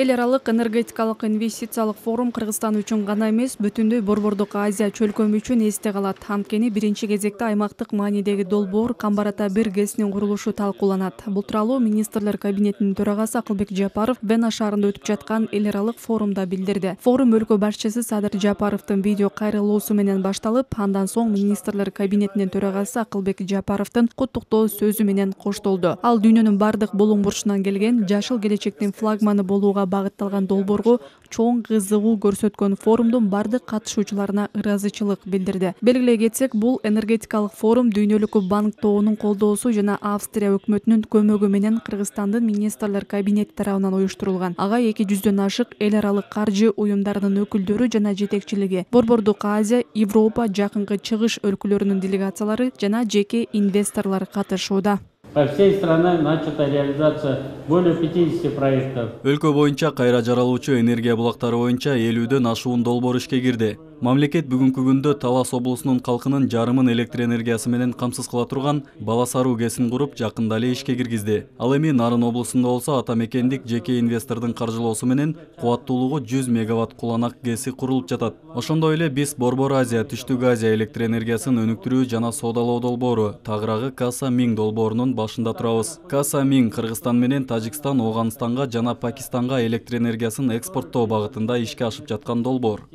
Эл аралык энергетикалык инвестициялык форум Кыргызстан үчүн гана эмес, бүтүндөй Борбордук Азия чөлкөмү үчүн эсте калат. Анткени биринчи кезекте аймактык маанидеги долбоор Камбар-Ата-1 ГЭСинин курулушу талкууланат. Бул тууралуу министрлер кабинетинин төрагасы Акылбек Жапаров Вена шаарында өтүп жаткан эл аралык форумда билдирди. Форум өлкө башчысы Садыр Жапаровдун видео кайрылуусу менен башталып, андан соң министрлер кабинетинин төрагасы Акылбек Жапаровдун куттуктоо сөзү менен коштолду. Ал дүйнөнүн бардык булуң бурчунан келген жашыл келечектин флагманы болууга багытталган долбоорго чоң кызыгуу көрсөткөн форумдун бардык катышуучуларына ыраазычылык билдирди. Белгилей кетсек, бул энергетикалык форум Дүйнөлүк банк тобунун колдоосу жана Австрия өкмөтүнүн көмөгү менен Кыргызстандын министрлер кабинети тарабынан уюштурулган. Ага 200дөн ашык эл аралык каржы уюмдарынын өкүлдөрү жана жетекчилиги, Борбордук Азия, Европа, Жакынкы Чыгыш өлкөлөрүнүн делегациялары жана жеке инвесторлор катышууда. По всей стране начата реализация более 50 проектов. Өлкө боюнча кайра жаралуучу энергия булактары боюнча 50дөн ашуун долбоор ишке кирди. Мамлекет бүгүнкү күндө Талас облусунун калкынын жарымын электр энергиясы менен камсыз кыла турган Бала Саруу ГЭСин куруп, жакында эле ишке киргизди. Ал эми Нарын облусунда болсо ата мекендик жеке инвестордун каржылоосу менен кубаттуулугу 100 мегаватт куланак ГЭСи курулуп жатат. Ошондой эле биз Борбор Азия, Түштүк Азия электр энергиясын өнүктүрүү жана соодалоо долбоору, тагыраагы Каса Миң долбоорунун башында турабыз. Каса Миң Кыргызстан менен Тажикстан, Ооганстанга жана Пакистанга электр энергиясын экспорттоо багытында ишке ашып жаткан долбоор.